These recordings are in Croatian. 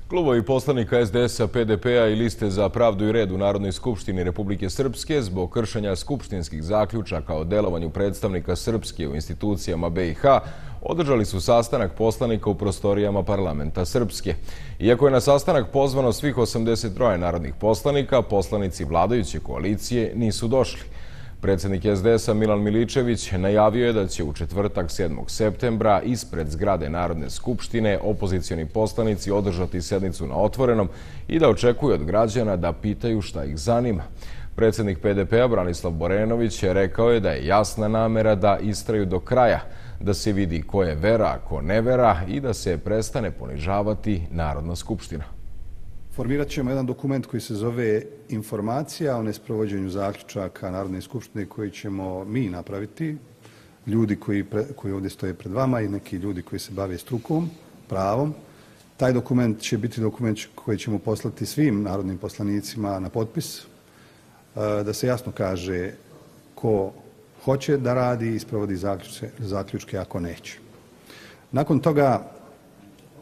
Klubovi poslanika SDS-a, PDP-a i Liste za pravdu i red u Narodnoj skupštini Republike Srpske zbog kršenja skupštinskih zaključaka o delovanju predstavnika Srpske u institucijama BiH održali su sastanak poslanika u prostorijama parlamenta Srpske. Iako je na sastanak pozvano svih 83 narodnih poslanika, poslanici vladajuće koalicije nisu došli. Predsjednik SDS-a Milan Miličević najavio je da će u četvrtak 7. septembra ispred zgrade Narodne skupštine opozicioni poslanici održati sednicu na otvorenom i da očekuju od građana da pitaju šta ih zanima. Predsjednik PDP-a Branislav Borenović rekao je da je jasna namera da istraju do kraja, da se vidi ko je vera, a ko ne vera i da se prestane ponižavati Narodna skupština. Formirat ćemo jedan dokument koji se zove Informacija o nesprovođenju zaključaka Narodne skupštine koji ćemo mi napraviti, ljudi koji ovdje stoje pred vama i neki ljudi koji se bave strukom, pravom. Taj dokument će biti dokument koji ćemo poslati svim narodnim poslanicima na potpis, da se jasno kaže ko hoće da radi i sprovodi zaključke ako neće. Nakon toga,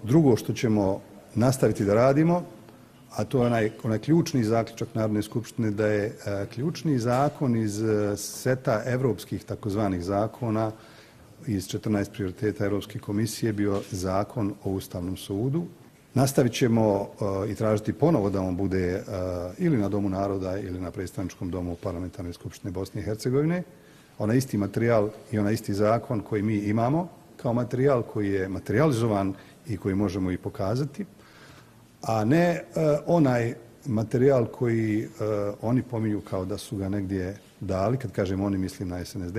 drugo što ćemo nastaviti da radimo, a to je onaj ključni zaključak Narodne skupštine, da je ključni zakon iz seta evropskih takozvanih zakona iz 14 prioriteta Evropske komisije bio zakon o Ustavnom sudu. Nastavit ćemo i tražiti ponovo da on bude ili na Domu naroda ili na predstavničkom domu Parlamentarne skupštine Bosne i Hercegovine. Onaj isti materijal i onaj isti zakon koji mi imamo kao materijal koji je materializovan i koji možemo i pokazati, a ne onaj materijal koji oni pominju kao da su ga negdje dali, kad kažem oni mislim na SNSD,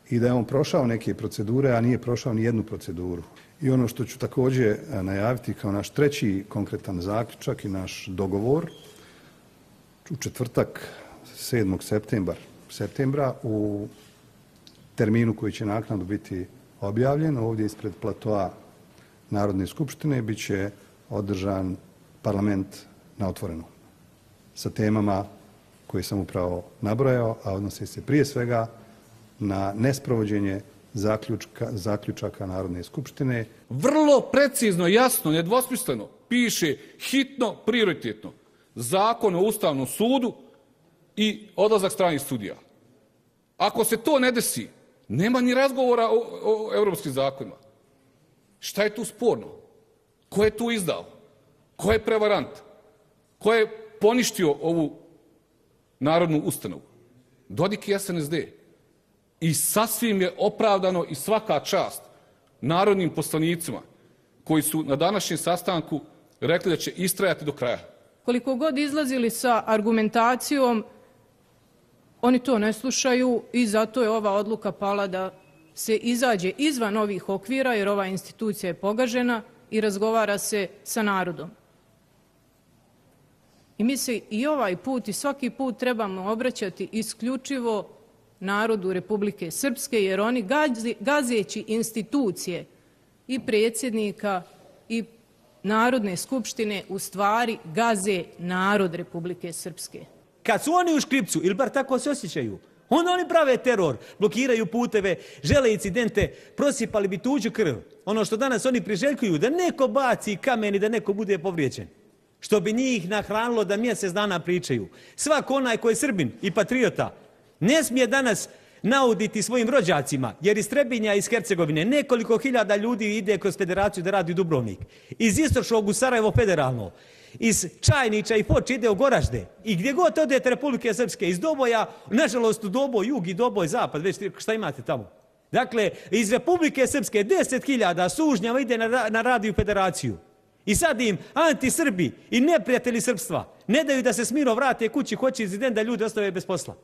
i da je on prošao neke procedure, a nije prošao ni jednu proceduru. I ono što ću također najaviti kao naš treći konkretan zaključak i naš dogovor, u četvrtak 7. septembra u terminu koji će naknadno biti objavljen, ovdje ispred platoa Narodne skupštine, bit će održan parlament na otvorenom sa temama koje sam upravo nabrojao, a odnose se prije svega na nesprovođenje zaključaka Narodne skupštine. Vrlo precizno, jasno, nedvosmisleno piše hitno, prioritetno Zakon o Ustavnom sudu i odlazak stranih sudija. Ako se to ne desi, nema ni razgovora o europskim zakonima. Šta je tu sporno? Ko je tu izdao? Ko je prevarant? Ko je poništio ovu narodnu ustanovu? Dodik i SNSD. I sasvim je opravdano i svaka čast narodnim poslanicima koji su na današnjem sastanku rekli da će istrajati do kraja. Koliko god izlazili sa argumentacijom, oni to ne slušaju i zato je ova odluka pala da se izađe izvan ovih okvira, jer ova institucija je pogažena i razgovara se sa narodom. I mi se i ovaj put i svaki put trebamo obraćati isključivo narodu Republike Srpske, jer oni gazeći institucije i predsjednika i Narodne skupštine u stvari gaze narod Republike Srpske. Kad su oni u škripcu, ili bar tako se osjećaju, onda oni prave teror, blokiraju puteve, žele incidente, prosipali bi tuđu krv. Ono što danas oni priželjkuju, da neko baci kamen i da neko bude povrijeđen. Što bi njih nahranilo da mjesec dana pričaju. Svako onaj ko je Srbin i patriota ne smije danas nauditi svojim rođacima, jer iz Trebinja i iz Hercegovine nekoliko hiljada ljudi ide kroz federaciju da radi u Dubrovnik. Iz Istočnog u Sarajevo federalno. Iz Čajnića i Foče ide u Goražde. I gdje god odete Republike Srpske, iz Doboja, nažalost u Doboj jug i Doboj zapad, već šta imate tamo. Dakle, iz Republike Srpske 10.000 sužnjava ide na radio federaciju. I sad im anti-Srbi i neprijatelji srpstva ne daju da se smiro vrate kući, hoće incident da ljudi ostave bez posla.